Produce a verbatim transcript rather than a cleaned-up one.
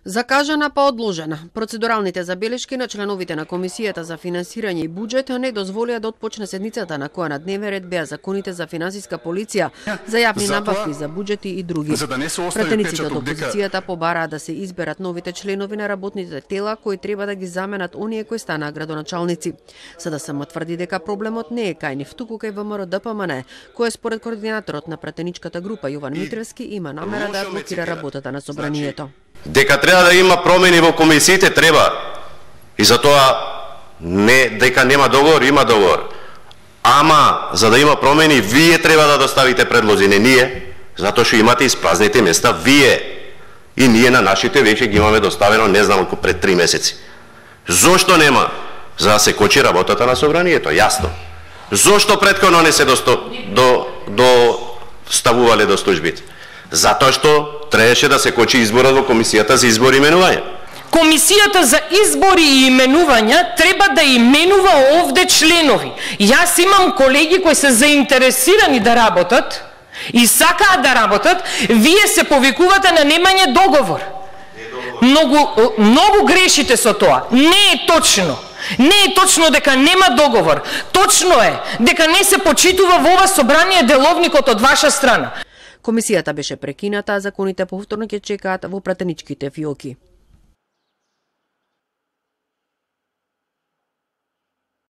Закажана па одложена. Процедуралните забелешки на членовите на Комисијата за финансирање и буџет не дозволија да отпочне седницата на која на дневен ред беа законите за финансиска полиција, за јавни набавки за буџети и други. За да не се остави Пратениците од печаток дека опозицијата побараа да се изберат новите членови на работните тела кои треба да ги заменат оние кои станаа градоначалници. СДСМ тврди дека проблемот не е кај нив, туку кај ВМРО-ДПМН, кој според координаторот на пратеничката група Јован Митревски има намера да блокира работата на собранието. Дека треба да има промени во комисиите, треба. И затоа не дека нема договор, има договор. Ама за да има промени, вие треба да доставите предлози, не ние, затоа што имате испразните места вие. И ние на нашите веќе ги имаме доставено, не знам колку пред три месеци. Зошто нема? За да се кочи работата на собранието, јасно. Зошто претходно не се досто, до до ставувале до службите? Затоа што требаше да се кочи изборот во Комисијата за избори и именување. Комисијата за избори и именувања треба да именува овде членови. Јас имам колеги кои се заинтересирани да работат и сакаат да работат, вие се повикувате на немање договор. Многу, многу грешите со тоа. Не е точно. Не е точно дека нема договор. Точно е дека не се почитува во ова собрание деловникот од ваша страна. Комисијата беше прекината, а законите повторно ќе чекаат во пратеничките фиоки.